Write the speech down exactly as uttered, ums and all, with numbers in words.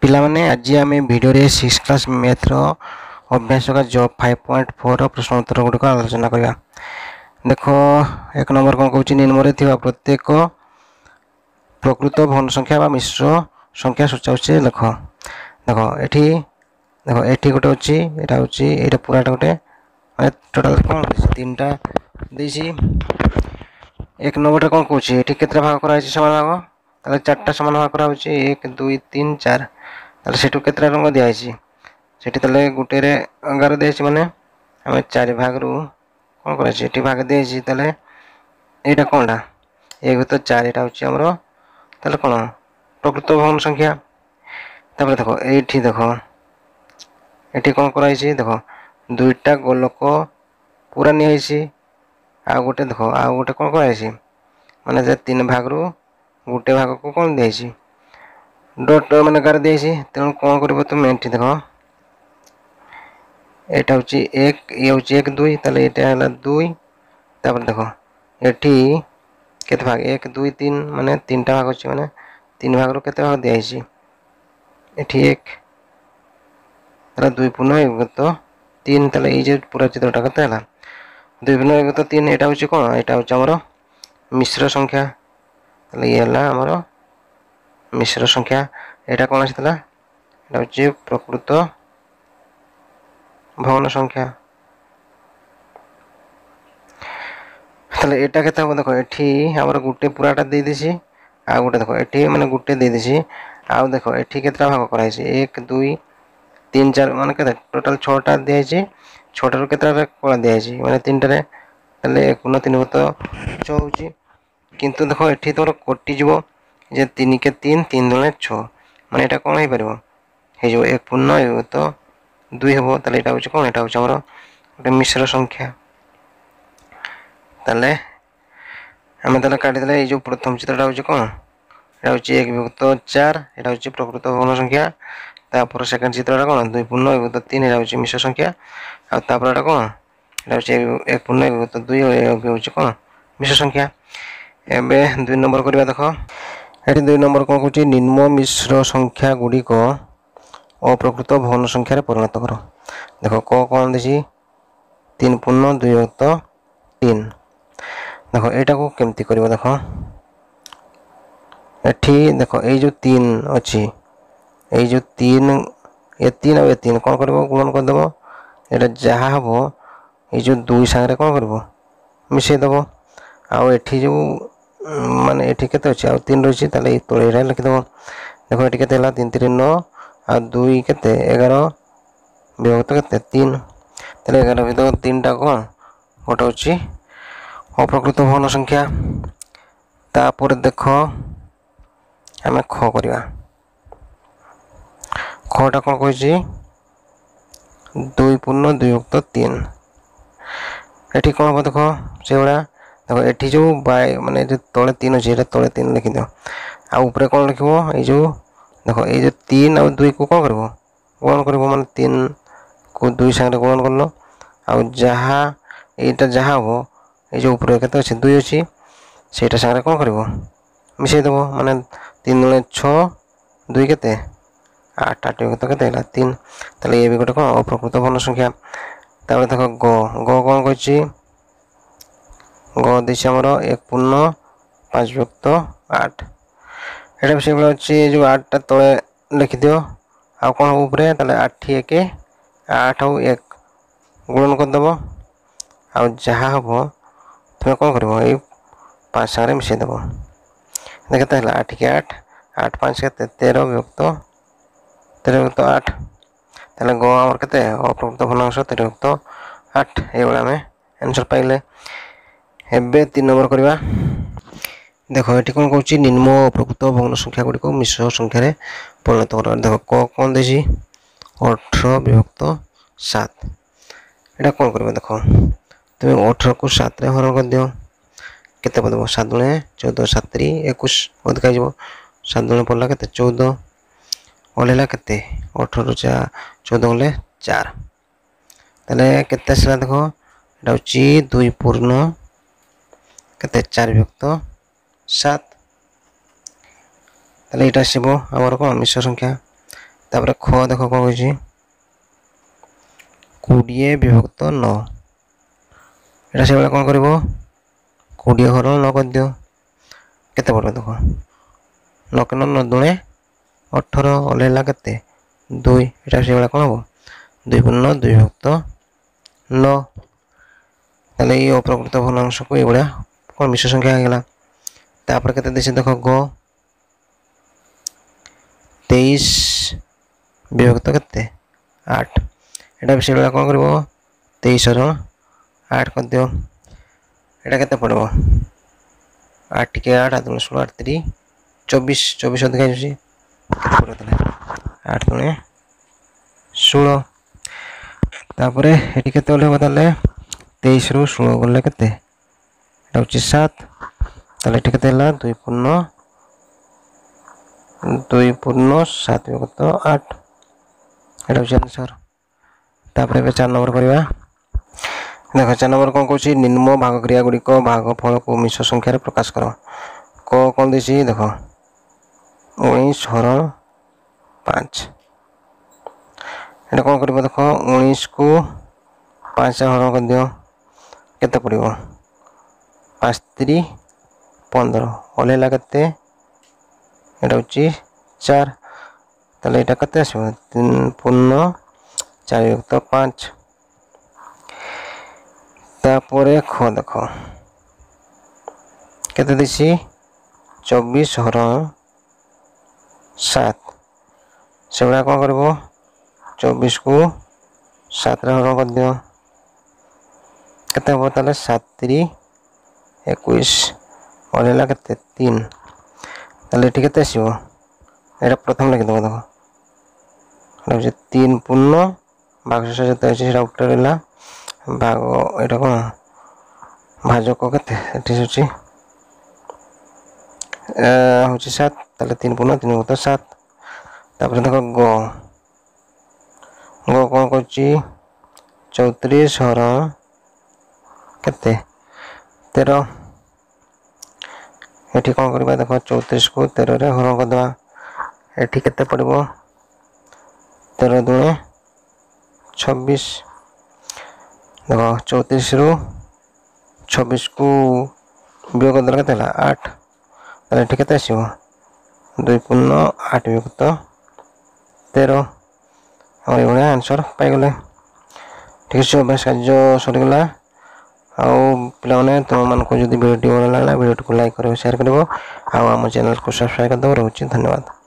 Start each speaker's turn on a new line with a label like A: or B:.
A: ପିଲାମାନେ ଆଜି ଆମେ ଭିଡ଼ିଓରେ ସିକ୍ସ କ୍ଲାସ୍ ମ୍ୟାଥ୍ର ଅଭ୍ୟାସ ଜବ୍ ଫାଇଭ୍ ପଏଣ୍ଟ ଫୋର୍ର ପ୍ରଶ୍ନ ଉତ୍ତର ଗୁଡ଼ିକ ଆଲୋଚନା କରିବା। ଦେଖ, ଏକ ନମ୍ବର କ'ଣ କହୁଛି? ନିମ୍ନରେ ଥିବା ପ୍ରତ୍ୟେକ ପ୍ରକୃତ ଭଗ୍ନ ସଂଖ୍ୟା ବା ମିଶ୍ର ସଂଖ୍ୟା ସୂଚାଉଛି ଲେଖ। ଦେଖ, ଏଠି ଦେଖ, ଏଠି ଗୋଟେ ଅଛି, ଏଇଟା ହେଉଛି, ଏଇଟା ପୁରାଟା ଗୋଟେ, ମାନେ ଟୋଟାଲ୍ କ'ଣ ଦେଇଛି? ତିନିଟା ଦେଇଛି। ଏକ ନମ୍ବରଟା କ'ଣ କହୁଛି? ଏଠି କେତେଟା ଭାଗ କରାହେଇଛି? ସମାନ ଭାଗ। ତାହେଲେ ଚାରିଟା ସମାନ ଭାଗ କରାହେଉଛି, ଏକ, ଦୁଇ, ତିନି, ଚାରି। ତାହେଲେ ସେଠୁ କେତେଟା ରଙ୍ଗ ଦିଆହେଇଛି ସେଠି? ତାହେଲେ ଗୋଟେରେ ଗାର ଦିଆହେଇଛି, ମାନେ ଆମେ ଚାରି ଭାଗରୁ କ'ଣ କରାଯାଇଛି? ଏଠି ଭାଗ ଦିଆହେଇଛି। ତାହେଲେ ଏଇଟା କ'ଣଟା? ଏକ ତ ଚାରି, ଏଇଟା ହେଉଛି ଆମର ତାହେଲେ କ'ଣ? ପ୍ରକୃତ ଭଗ୍ନ ସଂଖ୍ୟା। ତାପରେ ଦେଖ, ଏଇଠି ଦେଖ, ଏଠି କ'ଣ କରାହେଇଛି? ଦେଖ, ଦୁଇଟା ଗୋଲକ ପୁରା ନିଆହେଇଛି, ଆଉ ଗୋଟେ ଦେଖ, ଆଉ ଗୋଟେ କ'ଣ କରାହେଇଛି? ମାନେ ଯେ ତିନି ଭାଗରୁ ଗୋଟେ ଭାଗକୁ କ'ଣ ଦିଆହେଇଛି? ଡଟ୍, ମାନେ ଗାର ଦିଆହେଇଛି। ତେଣୁ କ'ଣ କରିବ ତୁମେ? ଏଠି ଦେଖ, ଏଇଟା ହେଉଛି ଏକ, ଇଏ ହେଉଛି ଏକ, ଦୁଇ, ତାହେଲେ ଏଇଟା ହେଲା ଦୁଇ। ତାପରେ ଦେଖ, ଏଠି କେତେ ଭାଗ? ଏକ, ଦୁଇ, ତିନି, ମାନେ ତିନିଟା ଭାଗ ଅଛି, ମାନେ ତିନି ଭାଗରୁ କେତେ ଭାଗ ଦିଆହେଇଛି ଏଠି? ଏକ। ତାହେଲେ ଦୁଇ ପୂର୍ଣ୍ଣ ଏକ ତ ତିନି। ତାହେଲେ ଏଇ ଯେ ପୁରା ଚିତ୍ରଟା କେତେ ହେଲା? ଦୁଇ ପୂର୍ଣ୍ଣ ଏକ ତ ତିନି। ଏଇଟା ହେଉଛି କ'ଣ? ଏଇଟା ହେଉଛି ଆମର ମିଶ୍ର ସଂଖ୍ୟା। ତାହେଲେ ଇଏ ହେଲା ଆମର ମିଶ୍ର ସଂଖ୍ୟା। ଏଇଟା କ'ଣ ଆସିଥିଲା? ଏଇଟା ହେଉଛି ପ୍ରକୃତ ଭଗ୍ନ ସଂଖ୍ୟା। ତାହେଲେ ଏଇଟା କେତେ ହେବ? ଦେଖ, ଏଠି ଆମର ଗୋଟେ ପୁରାଟା ଦେଇଦେଇଛି, ଆଉ ଗୋଟେ ଦେଖ ଏଠି, ମାନେ ଗୋଟେ ଦେଇଦେଇଛି। ଆଉ ଦେଖ, ଏଠି କେତେଟା ଭାଗ କରାହେଇଛି? ଏକ, ଦୁଇ, ତିନି, ଚାରି, ମାନେ କେତେ? ଟୋଟାଲ୍ ଛଅଟା ଦିଆହେଇଛି। ଛଅଟାରୁ କେତେଟା କଳା ଦିଆହେଇଛି? ମାନେ ତିନିଟାରେ। ତାହେଲେ ଏକ ପୂର୍ଣ୍ଣ ତିନି ତ ଛଅ ହେଉଛି। କିନ୍ତୁ ଦେଖ, ଏଠି ତମର କଟିଯିବ ଯେ ତିନି କେ ତିନି, ତିନି ଦୁଣେ ଛଅ, ମାନେ ଏଇଟା କ'ଣ ହେଇପାରିବ? ହେଇଯିବ ଏକ ପୂର୍ଣ୍ଣ ଏକ ତ ଦୁଇ ହେବ। ତାହେଲେ ଏଇଟା ହେଉଛି କ'ଣ? ଏଇଟା ହେଉଛି ଆମର ଗୋଟେ ମିଶ୍ର ସଂଖ୍ୟା। ତାହେଲେ ଆମେ ତାହେଲେ କାଟିଦେଲେ। ଏଇ ଯେଉଁ ପ୍ରଥମ ଚିତ୍ରଟା ହେଉଛି କ'ଣ? ଏଇଟା ହେଉଛି ଏକ ବିଭକ୍ତ ଚାରି, ଏଇଟା ହେଉଛି ପ୍ରକୃତ ଭଗ୍ନ ସଂଖ୍ୟା। ତାପରେ ସେକେଣ୍ଡ ଚିତ୍ରଟା କ'ଣ? ଦୁଇ ପୂର୍ଣ୍ଣ ଏକ ବିଭକ୍ତ ତିନି, ଏଇଟା ହେଉଛି ମିଶ୍ର ସଂଖ୍ୟା। ଆଉ ତାପରେ ଏଇଟା କ'ଣ? ଏଇଟା ହେଉଛି ଏକ ପୂର୍ଣ୍ଣ ଏକ ବିଭକ୍ତ ଦୁଇ, ହେଉଛି କ'ଣ? ମିଶ୍ର ସଂଖ୍ୟା। ଏବେ ଦୁଇ ନମ୍ବର କରିବା। ଦେଖ, ଏଠି ଦୁଇ ନମ୍ବର କ'ଣ କହୁଛି? ନିମ୍ନ ମିଶ୍ର ସଂଖ୍ୟା ଗୁଡ଼ିକ ଅପ୍ରକୃତ ଭଗ୍ନ ସଂଖ୍ୟାରେ ପରିଣତ କର। ଦେଖ, କ କ'ଣ ଦେଇଛି? ତିନି ପୂର୍ଣ୍ଣ ଦୁଇ ବିଭକ୍ତ ତିନି। ଦେଖ, ଏଇଟାକୁ କେମିତି କରିବ? ଦେଖ, ଏଠି ଦେଖ, ଏଇ ଯେଉଁ ତିନି ଅଛି, ଏଇ ଯେଉଁ ତିନି, ଏ ତିନି ଆଉ ଏ ତିନି କ'ଣ କରିବ? ଗୁଣନ କରିଦେବ। ଏଇଟା ଯାହା ହେବ, ଏଇ ଯେଉଁ ଦୁଇ ସାଙ୍ଗରେ କ'ଣ କରିବ? ମିଶାଇ ଦେବ। ଆଉ ଏଠି ଯେଉଁ, ମାନେ ଏଠି କେତେ ଅଛି? ଆଉ ତିନି ରହିଛି। ତାହେଲେ ଏଇ ତଳେ ଏଇଟା ଲେଖିଦେବ। ଦେଖ, ଏଠି କେତେ ହେଲା? ତିନି ତିନି ନଅ, ଆଉ ଦୁଇ କେତେ? ଏଗାର ବିଭକ୍ତ କେତେ? ତିନି। ତାହେଲେ ଏଗାର ବିଭକ୍ତ ତିନିଟା କ'ଣ ଗୋଟେ ଅଛି? ଅପ୍ରକୃତ ଭଗ୍ନ ସଂଖ୍ୟା। ତାପରେ ଦେଖ, ଆମେ ଖ କରିବା। ଖଟା କ'ଣ କହିଛି? ଦୁଇ ପୂର୍ଣ୍ଣ ଦୁଇ ବିଭକ୍ତ ତିନି। ଏଠି କ'ଣ ହେବ? ଦେଖ, ସେଇଭଳିଆ ଦେଖ, ଏଠି ଯେଉଁ ବାଇ, ମାନେ ଏଠି ତଳେ ତିନି ଅଛି, ଏଇଟା ତଳେ ତିନି ଲେଖିଦିଅ। ଆଉ ଉପରେ କ'ଣ ଲେଖିବ? ଏଇ ଯେଉଁ ଦେଖ, ଏଇ ଯେଉଁ ତିନି ଆଉ ଦୁଇକୁ କ'ଣ କରିବ? ଗୁଣନ କରିବ। ମାନେ ତିନିକୁ ଦୁଇ ସାଙ୍ଗରେ ଗୁଣନ କଲ, ଆଉ ଯାହା ଏଇଟା ଯାହା ହେବ, ଏଇ ଯେଉଁ ଉପରେ କେତେ ଅଛି? ଦୁଇ ଅଛି, ସେଇଟା ସାଙ୍ଗରେ କ'ଣ କରିବ? ମିଶାଇ ଦେବ। ମାନେ ତିନି ଦୁଣେ ଛଅ, ଦୁଇ କେତେ? ଆଠ। ଆଠ ବିଭକ୍ତ କେତେ ହେଲା? ତିନି। ତାହେଲେ ଇଏ ବି ଗୋଟେ କ'ଣ? ଅପ୍ରକୃତ ଭଗ୍ନ ସଂଖ୍ୟା। ତାପରେ ଦେଖ, ଗ ଗ କ'ଣ କହିଛି? ଗ ଦେଇଛି ଆମର ଏକ ପୂର୍ଣ୍ଣ ପାଞ୍ଚ ବିଭକ୍ତ ଆଠ। ଏଇଟା ବି ସେଇଭଳିଆ ଅଛି, ଯେଉଁ ଆଠଟା ତଳେ ଲେଖିଦିଅ। ଆଉ କ'ଣ ହେବ ଉପରେ? ତାହେଲେ ଆଠ ଏକ ଆଠ, ଆଉ ଏକ ଗୁଣନ କରିଦେବ, ଆଉ ଯାହା ହେବ ତୁମେ କ'ଣ କରିବ? ଏଇ ପାଞ୍ଚ ସାଙ୍ଗରେ ମିଶାଇ ଦେବ। କେତେ ହେଲା? ଆଠ କି ଆଠ, ଆଠ ପାଞ୍ଚ କେତେ? ତେର ବିଭକ୍ତ, ତେର ବିଭକ୍ତ ଆଠ। ତାହେଲେ ଗ ଆମର କେତେ? ଅପ୍ରକୃତ ଭଗ୍ନାଂଶ ତେର ବିଭକ୍ତ ଆଠ। ଏଇଭଳିଆ ଆମେ ଆନ୍ସର୍ ପାଇଲେ। ଏବେ ତିନି ନମ୍ବର କରିବା। ଦେଖ, ଏଠି କ'ଣ କହୁଛି? ନିମ୍ନ ଅପ୍ରକୃତ ଭଗ୍ନ ସଂଖ୍ୟା ଗୁଡ଼ିକୁ ମିଶ୍ର ସଂଖ୍ୟାରେ ପରିଣତ କର। ଦେଖ, କ କ'ଣ ଦେଇଛି? ଅଠର ବିଭକ୍ତ ସାତ। ଏଇଟା କ'ଣ କରିବ? ଦେଖ, ତୁମେ ଅଠରକୁ ସାତରେ ହରଣ କରିଦିଅ, କେତେ ପଡ଼ିବ? ସାତ ଦୁଣେ ଚଉଦ, ସାତ ତିରି ଏକୋଇଶ, ଅଧିକା ହେଇଯିବ। ସାତ ଦୁଣେ ପଡ଼ିଲା କେତେ? ଚଉଦ। ଓହ୍ଲେଇଲା କେତେ? ଅଠରରୁ ଚା ଚଉଦ ଗଲେ ଚାରି। ତାହେଲେ କେତେ ଆସିଲା? ଦେଖ, ଏଇଟା ହେଉଛି ଦୁଇ ପୂର୍ଣ୍ଣ କେତେ? ଚାରି ବିଭକ୍ତ ସାତ। ତାହେଲେ ଏଇଟା ଆସିବ ଆମର କ'ଣ? ମିଶ୍ର ସଂଖ୍ୟା। ତାପରେ ଖ ଦେଖ କ'ଣ କହିଛି କୋଡ଼ିଏ ବିଭକ୍ତ ନଅ ଏଇଟା ସେଇଭଳିଆ କ'ଣ କରିବ କୋଡ଼ିଏ ହରଣ ନଅ କରିଦିଅ କେତେ ପଡ଼ିବ ଦେଖ ନଅ ନଅ ନଅ ଦୁଣେ ଅଠର ଓହ୍ଲେଇଲା କେତେ ଦୁଇ ଏଇଟା ସେଇଭଳିଆ କ'ଣ ହେବ ଦୁଇ ପୂର୍ଣ୍ଣ ଦୁଇ ବିଭକ୍ତ ନଅ ତାହେଲେ ଏଇ ଅପ୍ରକୃତ ଭଗ୍ନାଂଶକୁ ଏଇଭଳିଆ କ'ଣ ମିଶ୍ର ସଂଖ୍ୟା ହେଇଗଲା ତାପରେ କେତେ ଦେଇଛି ଦେଖ ଗ ତେଇଶ ବିଭକ୍ତ କେତେ ଆଠ ଏଇଟା ବି ସେଇଭଳିଆ କ'ଣ କରିବ ତେଇଶ ହରଣ ଆଠ କରିଦିଅ ଏଇଟା କେତେ ପଡ଼ିବ ଆଠ ଟିକେ ଆଠ ଆଠ ଦୁଣେ ଷୋହଳ ଆଠ ତିରି ଚବିଶ ଚବିଶ ଅଧିକା ହେଇଯାଉଛି କେତେ ପଡ଼ିବ ତାହେଲେ ଆଠ ଦୁଣେ ଷୋହଳ ତାପରେ ଏଠି କେତେ ଗଲେ ହେବ ତାହେଲେ ତେଇଶରୁ ଷୋହଳ ଗଲେ କେତେ ଏଇଟା ହେଉଛି ସାତ ତାହେଲେ ଏଠି କେତେ ହେଲା ଦୁଇ ପୂର୍ଣ୍ଣ ଦୁଇ ପୂର୍ଣ୍ଣ ସାତ ବିଭକ୍ତ ଆଠ ଏଇଟା ହେଉଛି ଆନ୍ସର୍ ତାପରେ ଏବେ ଚାରି ନମ୍ବର କରିବା ଦେଖ ଚାରି ନମ୍ବର କ'ଣ କହୁଛି ନିମ୍ନ ଭାଗ କ୍ରିୟା ଗୁଡ଼ିକ ଭାଗଫଳକୁ ମିଶ୍ର ସଂଖ୍ୟାରେ ପ୍ରକାଶ କର କ କ'ଣ ଦେଇଛି ଦେଖ ଉଣେଇଶ ହରଣ ପାଞ୍ଚ ଏଇଟା କ'ଣ କରିବ ଦେଖ ଉଣେଇଶକୁ ପାଞ୍ଚ ହରଣ କରିଦିଅ କେତେ ପଡ଼ିବ ପାଞ୍ଚ ତିରି ପନ୍ଦର ଓହ୍ଲେଇଲା କେତେ ଏଇଟା ହେଉଛି ଚାରି ତାହେଲେ ଏଇଟା କେତେ ଆସିବ ତିନି ପୂର୍ଣ୍ଣ ଚାରି ବିଭକ୍ତ ପାଞ୍ଚ ତାପରେ ଖ ଦେଖ କେତେ ଦେଇଛି ଚବିଶ ହରଣ ସାତ ସେଭଳିଆ କ'ଣ କରିବ ଚବିଶକୁ ସାତରେ ହରଣ କରିଦିଅ କେତେ ହେବ ତାହେଲେ ସାତ ତିରି ଏକୋଇଶ ଓହ୍ଲେଇଲା କେତେ ତିନି ତାହେଲେ ଏଠି କେତେ ଆସିବ ଏଇଟା ପ୍ରଥମେ ଲେଖିଦେବ ଦେଖ ଏଇଟା ହେଉଛି ତିନି ପୂର୍ଣ୍ଣ ଭାଗଶେଷ ଯେତେ ଅଛି ସେଇଟା ଉପରେ ରହିଲା ଭାଗ ଏଇଟା କ'ଣ ଭାଜକ କେତେ ଏଠି ହେଉଛି ହେଉଛି ସାତ ତାହେଲେ ତିନି ପୂର୍ଣ୍ଣ ତିନି ବିଭକ୍ତ ସାତ ତାପରେ ଦେଖ ଗ ଗ କ'ଣ କରୁଛି ଚଉତିରିଶ ହରଣ କେତେ ତେର ଏଠି କ'ଣ କରିବା ଦେଖ ଚଉତିରିଶକୁ ତେରରେ ହରଣ କରିଦେବା ଏଠି କେତେ ପଡ଼ିବ ତେର ଦୁଣେ ଛବିଶ ଦେଖ ଚଉତିରିଶରୁ ଛବିଶକୁ ବିୟୋଗ କରିଦେଲେ କେତେ ହେଲା ଆଠ ତାହେଲେ ଏଠି କେତେ ଆସିବ ଦୁଇ ପୂର୍ଣ୍ଣ ଆଠ ବିଭକ୍ତ ତେର ଆମର ଏଇଭଳିଆ ଆନ୍ସର୍ ପାଇଗଲେ ଠିକ୍ ଅଛି ଅଭ୍ୟାସ କାର୍ଯ୍ୟ ସରିଗଲା ଆଉ ପିଲାମାନେ ତୁମମାନଙ୍କୁ ଯଦି ଭିଡ଼ିଓଟି ଭଲ ଲାଗିଲା ଭିଡ଼ିଓଟିକୁ ଲାଇକ୍ କରିବ ସେୟାର କରିବ ଆଉ ଆମ ଚ୍ୟାନେଲକୁ ସବସ୍କ୍ରାଇବ୍ କରିଦେବ ରହୁଛି ଧନ୍ୟବାଦ।